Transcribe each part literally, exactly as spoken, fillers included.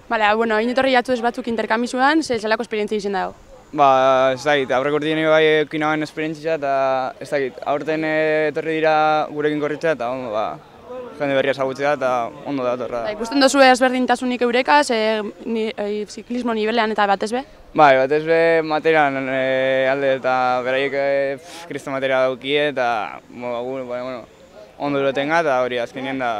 Bale, bueno, hain etorri jatzu ez batzuk interkamizuan, ze zelako esperientzia izan dago? Ba, ez dakit, aurreko urtean bai eukin hauen esperientzia eta ez dakit, aurten etorri dira gurekin korritzea eta ondo, ba, jende berria ezagutzea eta ondo da etorra. Ba, ikusten duzu ezberdintasunik eurekaz, e, ni, e, ziklismo nibelean eta batez be? Bai, batez be materian e, alde eta beraiek e, kristo materia daukie eta bueno, bueno, ondo duretenga eta hori azkenean da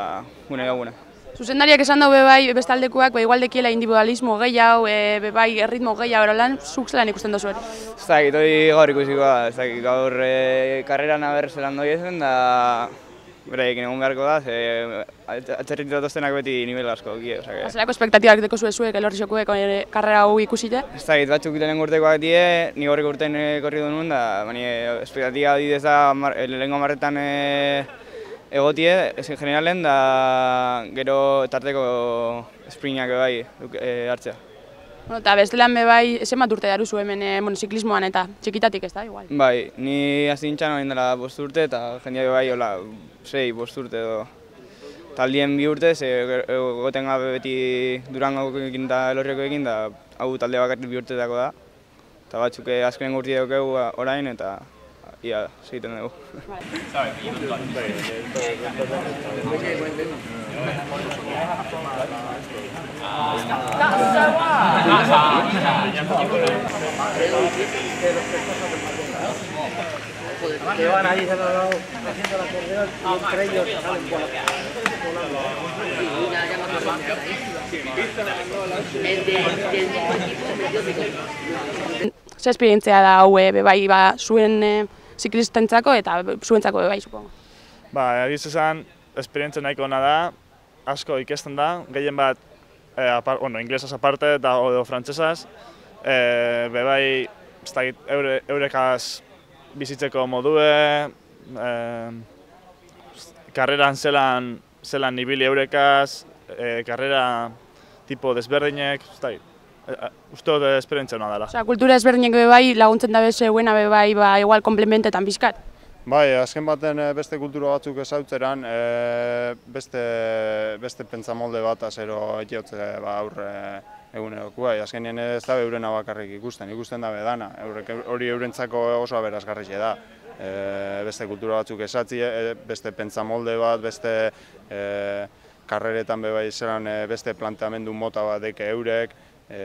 gune gune. Zuzendariak esan dago bai bestaldekoak ba, igual dekiela individualismo gehiago, e, bai erritmo gehiago erolan, zuk zelan ikusten duzu hori? Ez dakit, hori gaur ikusikoa, ez dakit, gaur e, karreran aber zelan doi ezen da beraiekin egun beharko da, ze atzerritu datoztenak beti nivel asko gie. Zelako espektatibak deko zuezuek, elorrizokuek karrera hau ikusite? Ez dakit, batzuk lehen urtekoak die, ni horrek urtean korri duen da, bani espektatiba didez da lehenko marretan egotie, ezin generalen, da gero tarteko sprintak bai hartzea. Bueno, eta bestelan be bai, zenbat urte daruzu hemen bueno, ziklismoan eta txikitatik ez da, igual? Bai, ni hasi nintzen orain dela bost urte eta jendeak bai, hola, sei, bost urte edo. Taldien bi urte, ze egoten gabe beti Durangoekin eta Elorriokoekin, da hau talde bakarrik bi urteetako da. Eta batzuk azkenen urti daukegu orain eta ia, segiten dugu. Que van ahí se han dado haciendo la correa y entre ellos salen por Ze esperientzia da hau be bai ba zuen ziklistentzako eta zuentzako be bai, supongo. Ba, egiz esan, esperientzia nahiko ona da, asko ikesten da, gehien bat, e, apar, bueno, inglesaz aparte eta edo frantsesaz, e, be bai, ez dakit, eure, eurekaz bizitzeko modue, e, karreran zelan, zelan ibili eurekaz, e, karrera tipo desberdinek, ez dakit. Uste dut esperientzia hona dela. Osea, kultura ezberdinek be bai laguntzen dabe zeuena be bai ba igual komplementetan bizkat. Bai, azken baten beste kultura batzuk ezautzeran, e, beste, beste pentsamolde bat azero etiotze ba, aurre eguneroko. Bai, azkenien ez dabe eurena bakarrik ikusten, ikusten dabe dana. Hori eurentzako oso aberazgarria da. E, beste kultura batzuk ezatzi, e, beste pentsamolde bat, beste e, karreretan be bai zelan e, beste planteamendu mota bat deke eurek. E,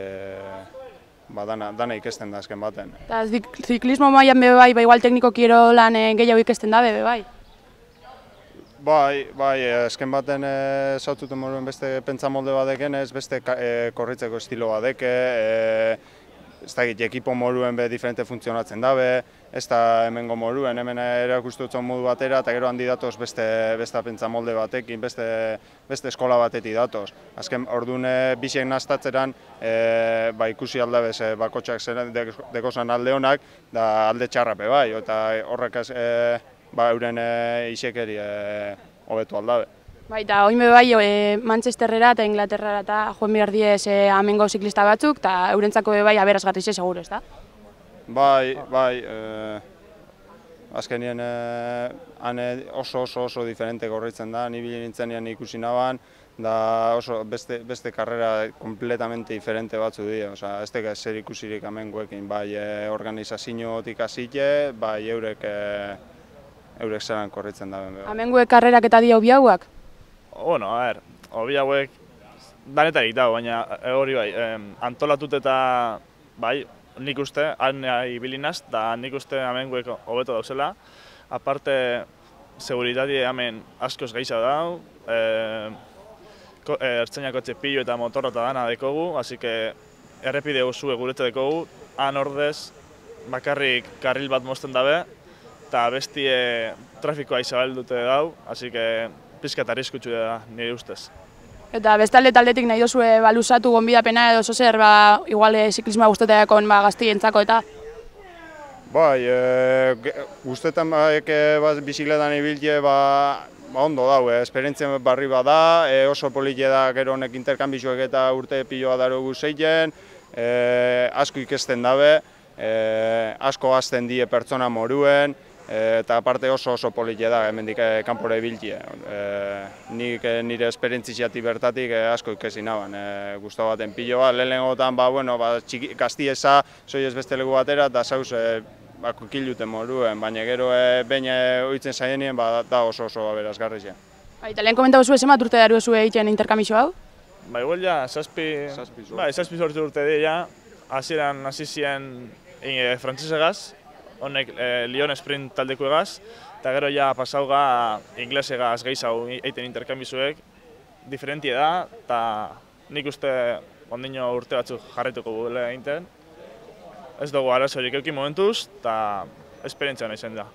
ba, dana, dana ikesten da azken baten. Eta ziklismo mailan be bai, ba igual tekniko kirolan e, gehiago ikesten da be bai? Bai, bai, azken baten e, zautzuten moruen beste pentsamolde bat deken ez, beste e, korritzeko estilo bat deke, e, ez dakit, ekipo moruen be diferente funtzionatzen dabe, ez da hemengo moruen, hemen erakustutzen modu batera, eta gero handi datoz beste, beste pentsamolde batekin, beste, beste eskola batetik datoz. Azken orduan bisiek naztatzeran e, ba, ikusi aldabez e, bakotxak dekozan alde honak, da alde txarrape bai, eta horrek e, ba, euren e, isekeri hobetu aldabe. Bai, eta oin be bai e, Manchesterrera eta Inglaterrara eta joan behar diez e, amengo ziklista batzuk, eta eurentzako be bai aberazgarri ze seguro, ez da? Bai, bai, e, azkenien e, han oso oso oso diferente korritzen da, ni bile nintzenean ikusi naban, da oso beste, beste karrera kompletamente diferente batzu dira, osea, ez teka zer ikusirik amengoekin, bai e, organizaziotik hasite, bai eurek, e, eurek zelan korritzen da. Amengoek karrerak eta dia hobi hauak? Bueno, a ver, hobi hauek danetarik dago, baina hori bai, antolatut eta bai, nik uste, han ibilinaz, eta nik uste amenguek hobeto dauzela. Aparte, seguridadi hemen askoz gehiago dau, ertzeinako txepillo eta motorra eta dana dekogu, así que errepide guzue gurete dekogu, han ordez bakarrik karril bat mozten dabe, eta bestie trafikoa izabaldute dau, así que pizkat arriskutsu da nire ustez. Eta bestalde taldetik nahi dozue baluzatu gonbidapena edo zozer, ba, igual ziklismoa guzteteakon ba, gaztientzako eta? Bai, e, guztetan baek bat bizikletan ibiltze, ba, ba ondo dau, e, esperientzia barri bada, e, oso politia da gero honek interkanbizuek eta urte piloa daro guzeiten, e, asko ikesten dabe, e, asko hazten die pertsona moruen, e, eta aparte oso oso politia da hemendik e, kanpora ibiltze. E, nik e, nire esperientziatik bertatik e, asko ikesi naban, e, guztu baten piloa, lehenengotan, ba, bueno, ba, txiki, gaztiesa, soiez beste leku batera, eta zauz, e, ba, kiluten moruen, baina gero e, behin oitzen zaienien, ba, da oso oso aberazgarri zen. Bai, eta lehen komentau zuen, zemat urte daru zuen egiten interkamizio hau? Ba, igual ja, zazpi, bai, zazpi sortu urte dira, hasieran hasi ziren e, frantzesegaz, honek e, Lyon Sprint taldeko egaz, eta gero ja pasauga inglesegaz gehiago egiten interkambizuek, diferentie da, eta nik uste ondino urte batzuk jarraituko gudela egiten. Ez dugu arazorik eukin momentuz, eta esperientzia hona izan da.